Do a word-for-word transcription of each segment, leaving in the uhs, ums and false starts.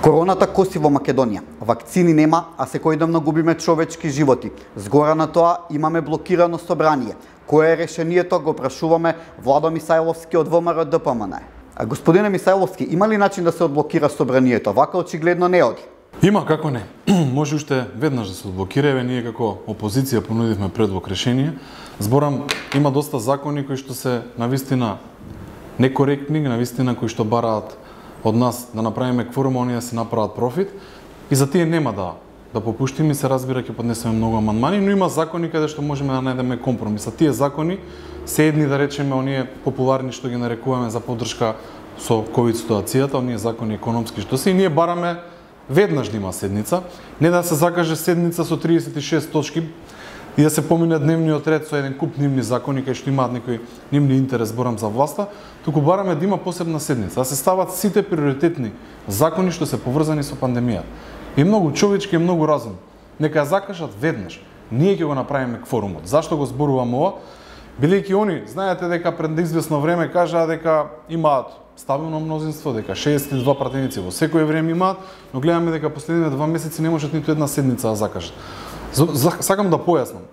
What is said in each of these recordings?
Короната коси во Македонија. Вакцини нема, а секојдневно губиме човечки животи. Згора на тоа имаме блокирано собрание. Кое е решението, го прашуваме Владо Мисајловски од ВМРО Д П М Н. А господине Мисајловски, има ли начин да се одблокира собранието? Вака очигледно не оди. Има, како не. Може уште веднаш да се одблокира, еве ние како опозиција понудивме предлог решение. Зборам, има доста закони кои што се навистина некоректни, навистина кои што бараат од нас да направиме кворум, а оние да се направат профит, и за тие нема да да попуштиме, се разбира ќе поднесеме многу амандмани, но има закони каде што можеме да најдеме компромис. А тие закони се едни, да речеме, оние популарни што ги нарекуваме за поддршка со ковид ситуацијата, оние закони економски што се, и ние бараме веднаш да има седница, не да се закаже седница со триесет и шест точки и да се помине дневниот ред со еден куп нивни закони кај што имаат некој нивни интерес, зборам за власта, туку бараме да има посебна седница, да се стават сите приоритетни закони што се поврзани со пандемијата. И многу човечки и многу разум. Нека ја закажат веднаш. Ние ќе го направиме кворумот. Зашто го зборувам ова? Бидејќи они, знаете дека пред извесно време кажаа дека имаат стабилно мнозинство, дека шеесет и два пратеници во секое време имаат, но гледаме дека последните два месеци не можат ниту една седница да закажат. Сакам да појаснам.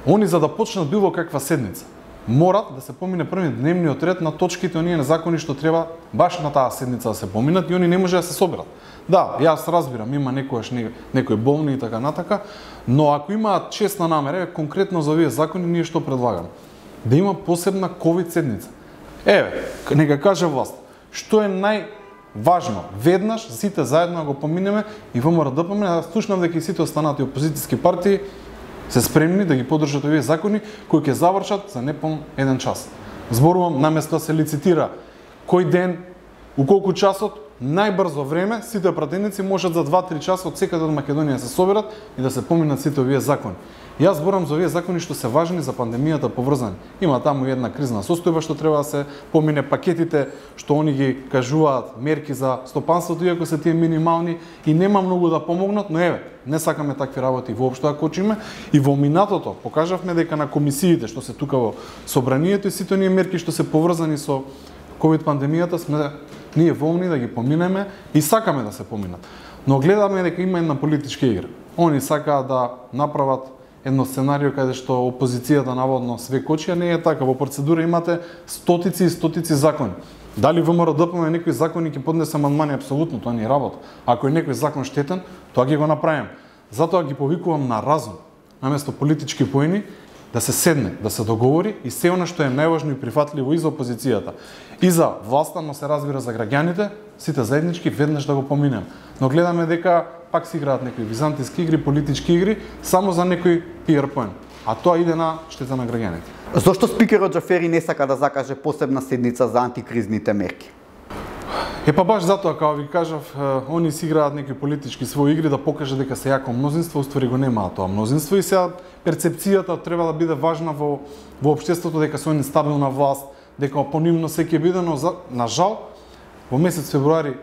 Они за да почнат било каква седница, морат да се помине први дневниот ред на точките оние на закони што треба баш на таа седница да се поминат, и они не може да се соберат. Да, јас разбирам, има некојаш некои болни и така натака, но ако имаат честна намера, конкретно за овие закони, ние што предлагаме? Да има посебна ковид седница. Еве, нека каже власт, што е најважно, веднаш сите заедно го поминеме, и ВМРО Д П М Н, да слушнам дека и сите останати опозицијски партии се спремни да ги поддржат овие закони кои ќе завршат за непон еден час. Зборувам, наместо да се лицитира кој ден, у колку часот, најбрзо време, сите пратеници можат за два-три часа од секаде од Македонија се соберат и да се поминат сите овие закони. Јас зборам за овие закони што се важни за пандемијата поврзани. Има таму една кризна состојба што треба да се помине, пакетите што они ги кажуваат, мерки за стопанството, иако се тие минимални и нема многу да помогнат, но еве, не сакаме такви работи воопшто да кочиме, и во минатото покажавме дека на комисиите што се тука во собранието и сите оние мерки што се поврзани со ковид пандемијата сме ние волни да ги поминеме и сакаме да се поминат. Но гледаме дека има една политичка игра. Они сакаат да направат едно сценарио каде што опозицијата наводно све кочи, а не е така. Во процедура имате стотици и стотици закони. Дали ВМРО Д П М некои закони ќе поднесе амандмани, апсолутно, тоа не е работа. Ако е некој закон штетен, тоа ќе го направиме. Затоа ги повикувам на разум, наместо политички поени, да се седне, да се договори и се она што е најважно и прифатливо и за опозицијата, и за власта, но се разбира за граѓаните, сите заеднички веднаш да го поминеме. Но гледаме дека пак се играат некои византиски игри, политички игри, само за некој пиар поен. А тоа иде на штета на граѓаните. Зошто спикерот Џафери не сака да закаже посебна седница за антикризните мерки? Е па баш затоа, како ви кажав, они си играат некои политички своји игри да покаже дека се јако мнозинство, уствари го немаат тоа мнозинство, и сега перцепцијата треба да биде важна во во општеството дека се они стабилна власт, дека по нивно се ќе биде, но за, на жал во месец февруари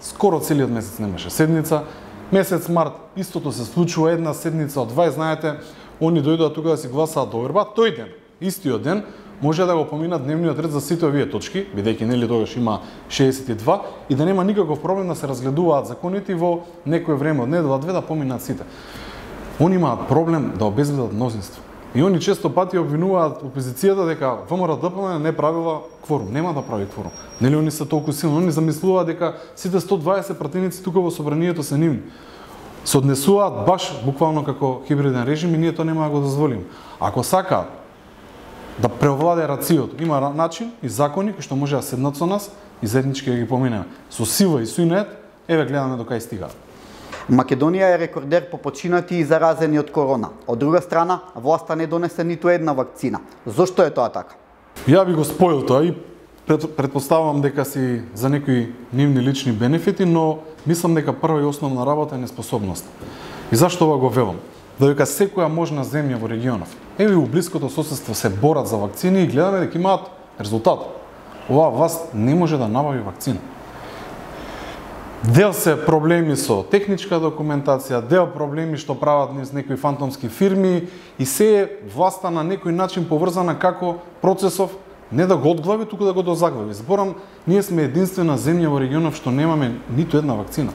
скоро целиот месец немаше седница. Месец март истото се случува, една седница од дваесет, знаете, они дојдоа тука да си гласаат до верба, тој ден, истиот ден, може да го поминат дневниот ред за сите овие точки, бидејќи нели тогаш има шеесет и два, и да нема никаков проблем да се разгледуваат законите и во некое време од недела-две да поминат сите. Они имаат проблем да обезбедат мнозинство. И они често пати обвинуваат опозицијата дека ВМРО Д П М не правила кворум, нема да прави кворум. Нели они се толку силни, они замислуваат дека сите сто дваесет пратеници тука во собранието се нивни. Се однесуваат баш буквално како хибриден режим и ние тоа нема да го дозволиме. Ако сакаат да преовладе рациото, има начин и закони кои што може да седнат со нас и заеднички да ги поминеме. Со сила и со инет, еве гледаме до кај стигаат. Македонија е рекордер по починати и заразени од корона. Од друга страна, власта не донесе ниту една вакцина. Зошто е тоа така? Ја би го споил тоа и предпоставувам дека си за некои нивни лични бенефити, но мислам дека прва и основна работа е неспособност. И зашто ова го велам? Додека секоја можна земја во регионов, еве и у блиското соседство се борат за вакцини и гледаме дека имаат резултат. Оваа власт не може да набави вакцина. Дел се проблеми со техничка документација, дел проблеми што прават низ некои фантомски фирми, и се е власта на некој начин поврзана како процесов не да го одглави, туку да го дозаглави. Зборам, ние сме единствена земја во регионот што немаме ниту една вакцина.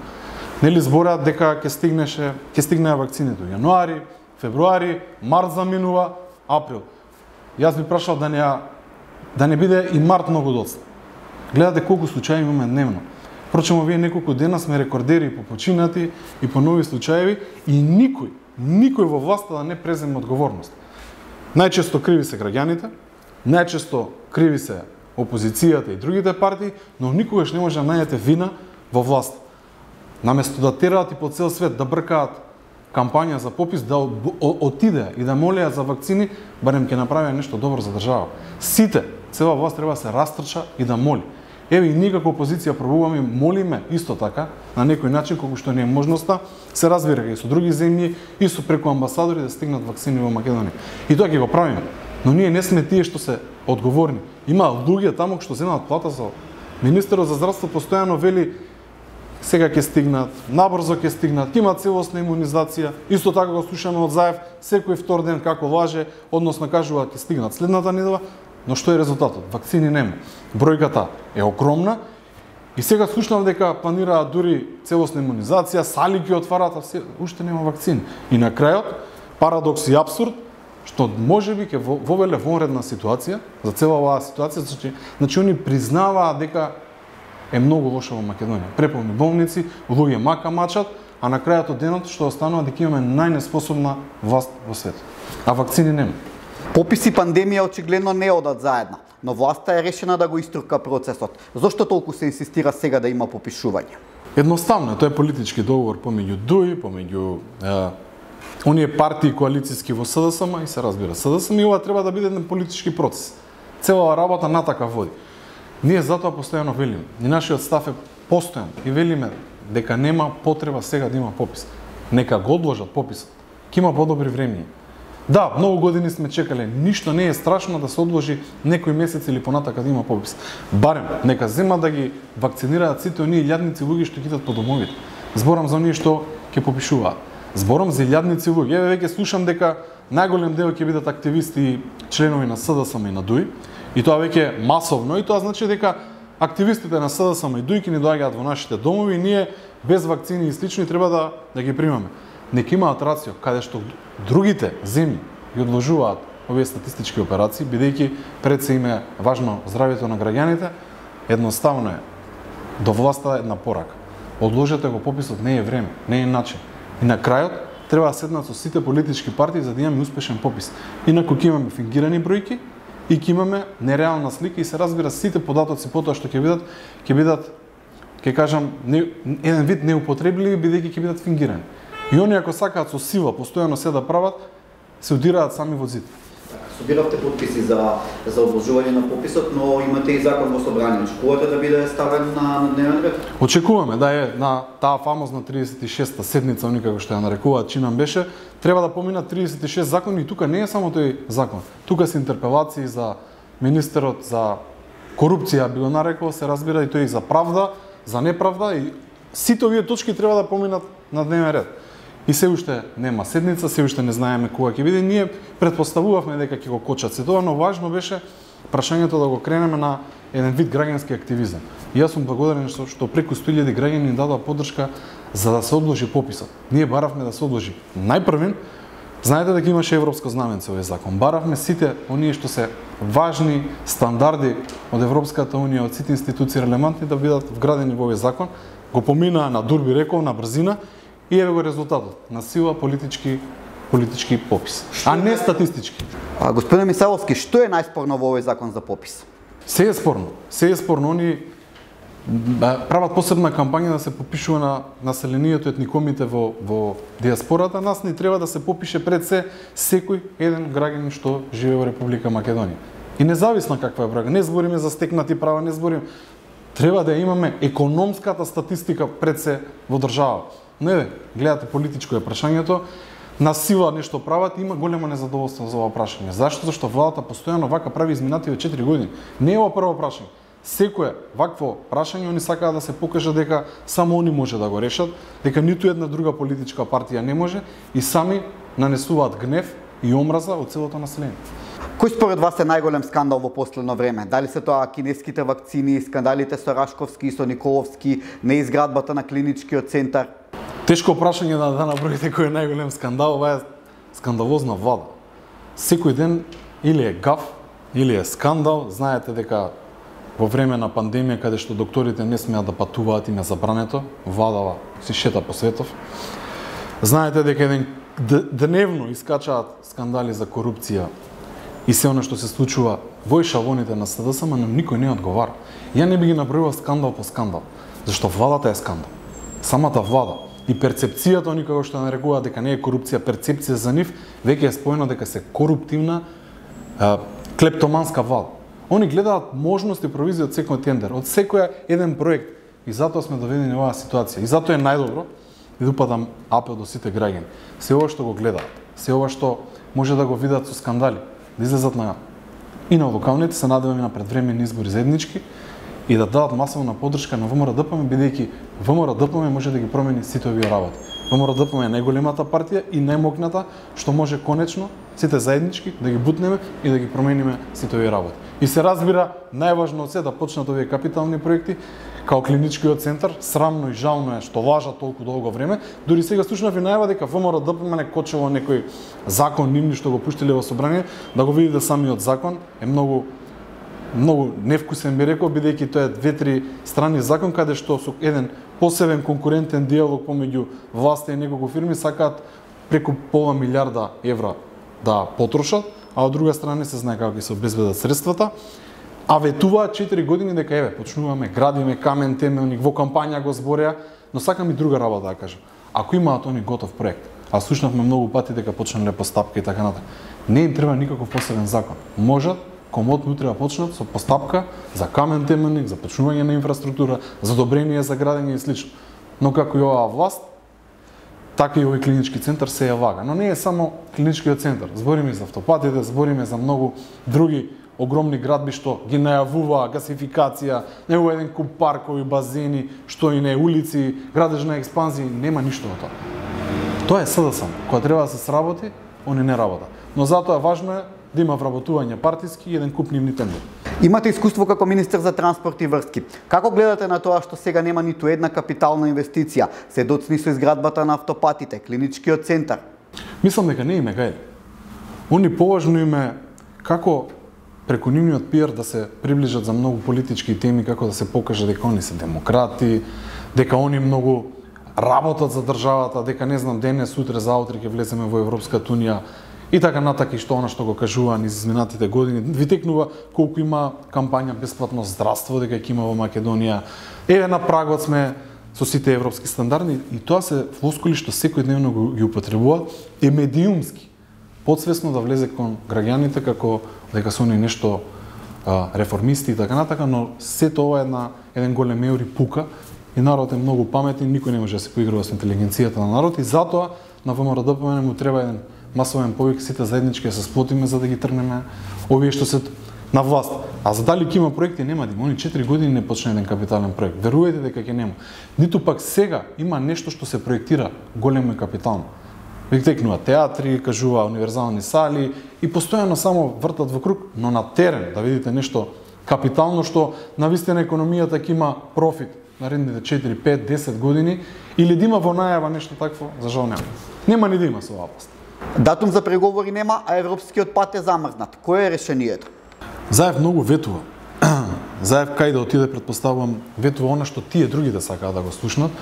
Нели збораат дека ќе стигнеше, ќе стигнеа вакцините во јануари, февруари, март заминува, април. Јас би прашал да не да не биде и март многу доцна. Гледате колку случаи имаме дневно. Впрочем, овие неколку дена сме рекордери по починати и по нови случаеви и никој, никој во власта да не преземе одговорност. Најчесто криви се граѓаните, најчесто криви се опозицијата и другите партии, но никогаш не може да најдете вина во власт. Наместо да тераат и по цел свет да бркаат кампања за попис, да отиде и да молеа за вакцини, барем ќе направи нешто добро за држава. Сите, цела власт треба да се растрча и да моли. Еве и ние како опозиција пробуваме, молиме исто така, на некој начин, колку што не е можноста, се разбира и со други земји, и со преку амбасадори да стигнат вакцини во Македонија. И тоа ќе го правиме. Но ние не сме тие што се одговорни. Има луѓе таму што земаат плата за министерот за здравство постојано вели сега ќе стигнат, набрзо ќе стигнат, ќе имаат целосна имунизација. Исто така го слушаме од Заев секој втор ден како лаже, односно кажува ќе стигнат следната недела. Но што е резултатот? Вакцини нема. Бројката е огромна и сега слушнав дека планираат дури целосна имунизација, сали ќе отварат, а се, уште нема вакцини. И на крајот, парадокс и апсурд, што можеби ќе вовеле вонредна ситуација за цела оваа ситуација, значи, значи они признаваат дека е многу лошо во Македонија. Преполни болници, луѓе мака мачат, а на крајот од денот што останува дека имаме најнеспособна власт во светот. А вакцини нема. Попис и пандемија очигледно не одат заедно, но власта е решена да го истурка процесот. Зошто толку се инсистира сега да има попишување? Едноставно, тоа е политички договор помеѓу ДУИ, помеѓу е, оние партии коалициски во СДСМ и се разбира СДСМ и ова треба да биде еден политички процес. Цела работа на така води. Ние затоа постојано велиме, и нашиот став е постојан и велиме дека нема потреба сега да има попис. Нека го одложат пописот. Ќе има подобри времиња. Да, многу години сме чекале, ништо не е страшно да се одложи некој месец или понатака да има попис. Барем, нека зема да ги вакцинираат сите оние илјадници луѓе што китат по домовите. Зборам за оние што ќе попишуваат. Зборам за илјадници луѓе. Еве веќе слушам дека најголем дел ќе бидат активисти и членови на СДСМ и на ДУИ, и тоа веќе масовно, и тоа значи дека активистите на СДСМ и ДУИ ќе ни доаѓаат во нашите домови и ние без вакцини и слични треба да да ги примаме. Нека имаат рацио, каде што другите земји ги одложуваат овие статистички операции, бидејќи пред се им е важно здравјето на граѓаните, едноставно е до власта една порака. Одложете го пописот, не е време, не е начин. И на крајот треба да седнат со сите политички партии за да имаме успешен попис. Инаку ќе имаме фингирани бројки и ќе имаме нереална слика и се разбира сите податоци потоа што ќе бидат, ќе бидат, ќе кажам, не, еден вид неупотребливи бидејќи ќе бидат фингирани. И они ако сакаат со сила постојано се да прават, се удираат сами во зид. Собиравте подписи за за одложување на пописот, но имате и закон во собрание. Очекувате да биде ставен на, на дневен ред? Очекуваме да е на таа фамозна триесет и шеста седница, они како што ја нарекуваат, чинам беше, треба да поминат триесет и шест закони и тука не е само тој закон. Тука се интерпелации за министерот за корупција, би го нарекол, се разбира и тој за правда, за неправда и сите овие точки треба да поминат на дневен ред. И се уште нема седница, се уште не знаеме кога ќе биде. Ние претпоставувавме дека ќе го кочат се тоа, но важно беше прашањето да го кренеме на еден вид граѓански активизам. И јас сум благодарен што, што преку сто илјади граѓани ни дадоа поддршка за да се одложи пописот. Ние баравме да се одложи. Најпрвен, знаете дека имаше европско знаменце овој закон. Баравме сите оние што се важни стандарди од Европската унија, од сите институции релевантни да бидат вградени во овој закон. Го поминаа на дур би рекол, на брзина. И еве го резултатот на сила политички политички попис, а не статистички. А, господин Мисаловски, што е најспорно во овој закон за попис? Се е спорно. Се е спорно. Они прават посебна кампања да се попишува на населението, етникомите во во диаспората. Нас ни треба да се попише пред се секој еден граѓанин што живее во Република Македонија. И независно каква е бројка, не збориме за стекнати права, не збориме. Треба да имаме економската статистика пред се во држава. Не, гледате политичко е прашањето, на сила нешто прават, има големо незадоволство за ова прашање. Зашто? Зашто владата постојано вака прави изминативе четири години. Не е ова прво прашање. Секое вакво прашање они сакаат да се покаже дека само они може да го решат, дека ниту една друга политичка партија не може и сами нанесуваат гнев и омраза од целото население. Кој според вас е најголем скандал во последно време? Дали се тоа кинеските вакцини, скандалите со Рашковски и со Николовски, неизградбата на клиничкиот центар? Тешко прашање да, да наброите кој е најголем скандал, ова е скандалозна влада. Секој ден или е гаф, или е скандал. Знаете дека во време на пандемија, каде што докторите не смеат да патуваат, им е забрането, владава си шета по светов. Знаете дека еден дневно искачаат скандали за корупција и се оно што се случува во ешалоните на СДС, ама никој не одговара. Ја не би ги набројувал скандал по скандал, зашто владата е скандал. Самата влада и перцепцијата, они како што нарекуваат дека не е корупција, перцепција за нив веќе е споено дека се коруптивна, е, клептоманска влада. Они гледаат можности и провизија од секој тендер, од секој еден проект, и затоа сме доведени во оваа ситуација. И затоа е најдобро и да упадам апел до сите граѓани. Се ова што го гледаат, се ова што може да го видат со скандали, да излезат на и на локалните, се надеваме на предвремени избори заеднички и да дадат масовна поддршка на ВМРО-ДПМ, бидејќи ВМРО-ДПМ може да ги промени сите овие работи. ВМРО-ДПМ е најголемата партија и најмокната што може конечно сите заеднички да ги бутнеме и да ги промениме сите овие работи. И се разбира, најважно од се да почнат овие капитални проекти, као клиничкиот центар. Срамно и жално е што важат толку долго време. Дури сега слушнав и најава дека ВМРО-ДПМ не кочело некој закон нивни што го пуштиле во собрание, да го видите самиот закон е многу многу невкусен, би рекол, бидејќи тоа е две-три страни закон каде што со еден посебен конкурентен диалог помеѓу власта и неколку фирми сакаат преку пола милиарда евра да потрошат, а од друга страна се знае како ќе се обезбедат средствата. А ветуваат четири години дека еве почнуваме, градиме камен темелник, во кампања го збореа, но сакам и друга работа да кажам. Ако имаат они готов проект, а слушнавме многу пати дека почнале постапка и така натаму, не им треба никаков посебен закон. Можат комотно утре да почнат со постапка за камен темелник, за почнување на инфраструктура, за одобрение за градење и слично. Но како и оваа власт, така и овој клинички центар се ја вага. Но не е само клиничкиот центар. Збориме за автопатите, збориме за многу други огромни градби што ги најавуваа гасификација, него еден куп паркови, базени, што и не улици, градежна експанзија, нема ништо од тоа. Тоа е СДС. Кога треба да се сработи, они не работа. Но затоа важно е да има вработување партиски и еден куп нивни тендери. Имате искуство како министер за транспорт и врски. Како гледате на тоа што сега нема ниту една капитална инвестиција, се доцни со изградбата на автопатите, клиничкиот центар? Мислам дека не име гајде. Они поважно име како преку нивниот пиар да се приближат за многу политички теми, како да се покаже дека они се демократи, дека они многу работат за државата, дека не знам денес, сутре, заутре ќе влеземе во Европската унија и така натака, и што она што го кажува низ изминатите години. Ви текнува колку има кампања бесплатно здравство дека ќе има во Македонија. Еве на прагот сме со сите европски стандарди и тоа се флоскули што секојдневно ги употребуваат е медиумски. Подсвесно да влезе кон граѓаните како дека се они нешто а, реформисти и така натака, но сето ова е една еден голем еури пука и народ е многу паметен, никој не може да се поигрува со интелигенцијата на народ и затоа на ВМРО-ДПМ му треба еден масовен повик, сите заеднички да се сплотиме за да ги тргнеме овие што се на власт. А за дали ќе има проекти, нема да има. Они четири години не почна еден капитален проект. Верувајте дека ќе нема. Ниту пак сега има нешто што се проектира големо и капитално. Веќе текнува театри, кажува универзални сали и постојано само вртат во круг, но на терен да видите нешто капитално што навистина економијата ќе има профит наредните четири, пет, десет години или да има во најава нешто такво, за жал нема. Нема ни да има со оваа власт. Датум за преговори нема, а европскиот пат е замрзнат. Кое е решението? Заев многу ветува. Заев кај да отиде, предпоставувам, ветува она што тие другите сакаат да го слушнат,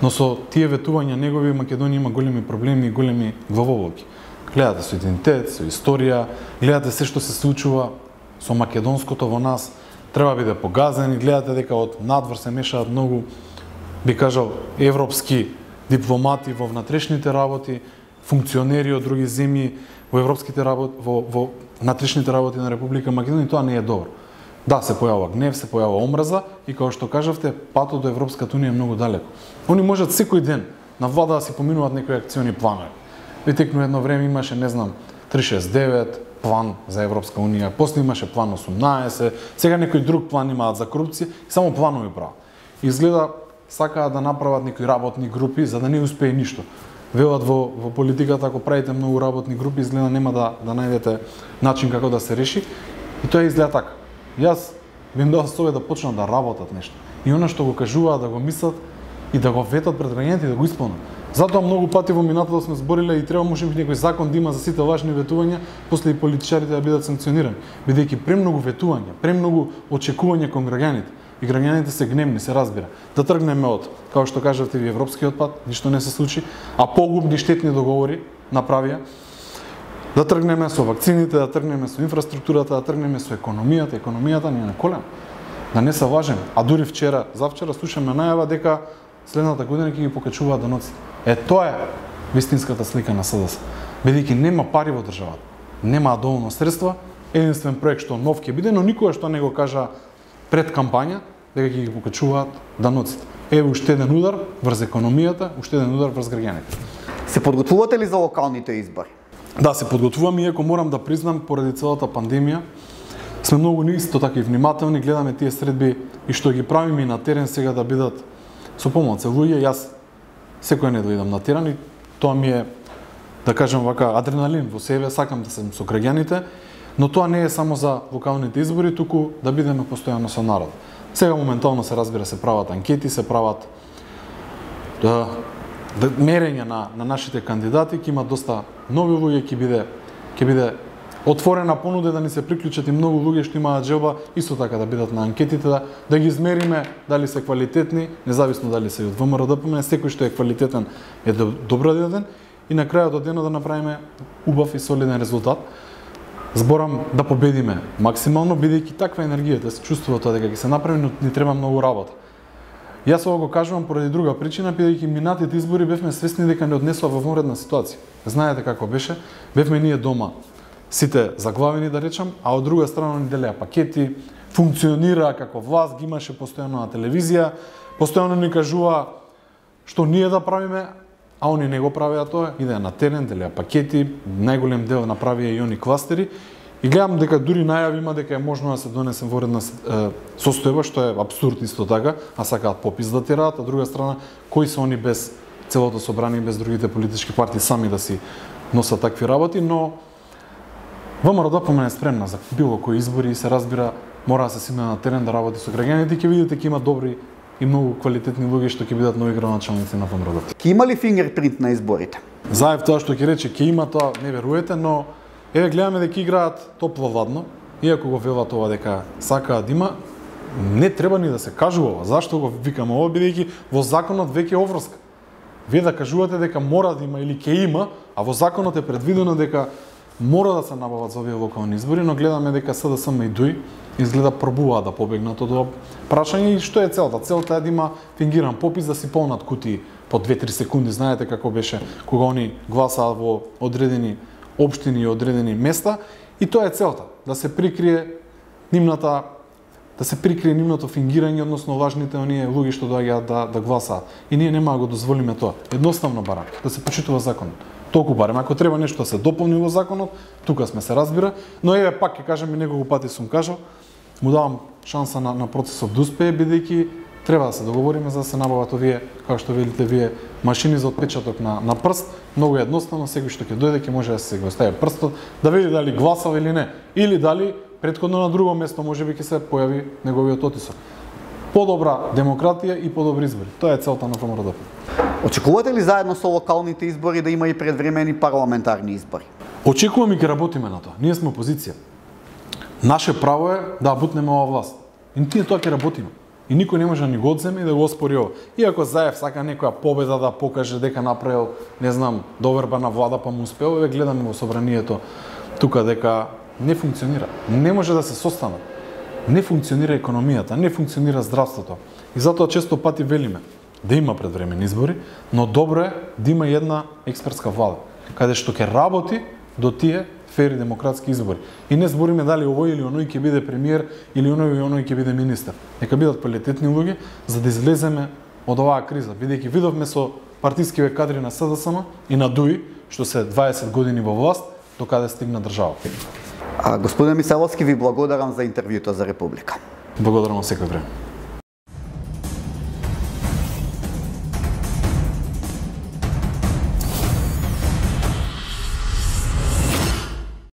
но со тие ветувања негови Македонија има големи проблеми и големи главоломки. Гледате со идентитет, со историја, гледате се што се случува со македонското во нас, треба биде погазен и гледате дека од надвор се мешаат многу, би кажал, европски дипломати во внатрешните работи, функционери од други земји во европските работи, во, во внатрешните работи на Република Македонија, тоа не е добро. Да, се појавува гнев, се појавува омраза и како што кажавте, патот до Европската унија е многу далеко. Они можат секој ден на влада да си поминуваат некои акциони планови. Витекно едно време имаше, не знам, триста шест девет план за Европска унија, после имаше план осумнаесет, сега некој друг план имаат за корупција и само планови прават. Изгледа сакаат да направат некои работни групи за да не успее ништо. велат во во политиката, ако правите многу работни групи, изгледа нема да да најдете начин како да се реши. И тоа изгледа така. Јас би им дал совет да почнат да работат нешто. И она што го кажуваат да го мислат и да го ветат пред граѓаните и да го исполнат. Затоа многу пати во минатото сме збориле и треба може би некој закон да има за сите важни ветувања, после и политичарите да бидат санкционирани, бидејќи премногу ветувања, премногу очекувања кон граѓаните. И граѓаните се гневни, се разбира. Да тргнеме од, како што кажавте ви, европскиот пат, ништо не се случи, а погубни штетни договори направија. Да тргнеме со вакцините, да тргнеме со инфраструктурата, да тргнеме со економијата, економијата ни е на колена. Да не се лажеме. А дури вчера, завчера слушаме најава дека следната година ќе ги покачуваат даноците. Е, тоа е вистинската слика на СДС. Бидејќи нема пари во државата, нема доволно средства, единствен проект што нов ќе биде, но никога што не го кажа пред кампања дека ќе ги покачуваат даноците. Еве уште еден удар врз економијата, уште еден удар врз граѓаните. Се подготвувате ли за локалните избори? Да, се подготвувам, иако морам да признам, поради целата пандемија, сме многу исто така и внимателни, гледаме тие средби и што ги правиме на терен сега да бидат со помоц луѓе. Јас секој не дојдам на терен и тоа ми е, да кажам вака, адреналин во себе, сакам да сум со граѓаните, но тоа не е само за локалните избори, туку да бидеме постојано со народ. Сега моментално се разбира, се прават анкети, се прават да, да мерење на на нашите кандидати, ќе има доста нови луѓе, ќе биде ќе биде отворена понуда да ни се приклучат и многу луѓе што имаат желба исто така да бидат на анкетите, да, да ги измериме дали се квалитетни, независно дали се од ВМРО-ДПМНЕ, секој што е квалитетен е добродетен и на крајот од денот да направиме убав и солиден резултат. Зборам да победиме максимално, бидејќи таква енергија да се чувствува тоа дека ќе се направи, но ни треба многу работа. Јас ова го кажувам поради друга причина, бидејќи минатите избори бевме свесни дека не однесува во вонредна ситуација. Знаете како беше, бевме ние дома сите заглавени да речам, а од друга страна ни делеа пакети, функционира како власт, ги имаше постојано на телевизија, постојано ни кажува што ние да правиме, а они не го правеа тоа, идеа на терен, делеа пакети, најголем дел направија и они кластери. И гледам дека дури најави има дека е можно да се донесе воредна состојба, што е апсурд исто така, а сакаат попис да тераат, а друга страна, кои се они без целото собрание, без другите политички партии сами да си носат такви работи, но ВМРО-ДПМНЕ е спремна за било кои избори и се разбира, мора да се сине на терен да работи со граѓаните, ќе видите ќе има добри и многу квалитетни луѓе што ќе бидат нови градоначалници на ВМРО-ДПМНЕ. Ќе има ли фингерпринт на изборите? Заев тоа што ќе рече ќе има, тоа не веруете, но еве гледаме дека играат топло-владно, иако го велат ова дека сакаат да има, не треба ни да се кажува. Зашто го викам ова, бидејќи во законот веќе е обврска. Вие да кажувате дека мора да има или ќе има, а во законот е предвидено дека мора да се набават за овие локални избори, но гледаме дека СДСМ и ДУИ изгледа пробуваат да побегнат од ова прашање. И што е целта? Целта е да има фингиран попис, да си полнат кутии по две-три секунди. Знаете како беше кога они гласаат во одредени општини и одредени места, и тоа е целта, да се прикрие нивната да се прикрие нивното фингирање, односно лажните оние луѓе што доаѓаат да да гласаат. И ние нема да го дозволиме тоа. Едноставно барам да се почитува законот. Толку барем, ако треба нешто да се дополни во законот, тука сме се разбира, но еве пак ќе кажам и неколку пати сум кажал, му давам шанса на, на процесот да успее, бидејќи треба да се договориме за да се набават овие, како што видите вие, машини за отпечаток на, на прст. Многу едноставно, секој што ќе дојде ќе може да се го стави прстот, да види дали гласал или не, или дали претходно на друго место можеби ќе се појави неговиот отисок. Подобра демократија и подобри избори. Тоа е целта на ВМРО-ДПМНЕ. Очекувате ли заедно со локалните избори да има и предвремени парламентарни избори? Очекуваме и ќе работиме на тоа. Ние сме опозиција. Наше право е да бутнеме ова власт. И ние тоа ќе работиме. И никој не може да ни го одземе и да го оспори ова. Иако Заев сака некоја победа да покаже дека направил, не знам, доверба на влада па му успеал, еве гледаме во собранието тука дека не функционира. Не може да се состанат. Не функционира економијата, не функционира здравството. И затоа често пати велиме да има предвремени избори, но добро е да има една експертска влада, каде што ќе работи до тие фери демократски избори. И не збориме дали овој или оној ќе биде премиер или оној или оној ќе биде министер. Нека бидат квалитетни луѓе за да излеземе од оваа криза, бидејќи видовме со партискиве кадри на СДСМ и на ДУИ, што се дваесет години во власт, до каде стигна државата. А, господин Михајловски, ви благодарам за интервјуто за Република. Благодарам во секој време.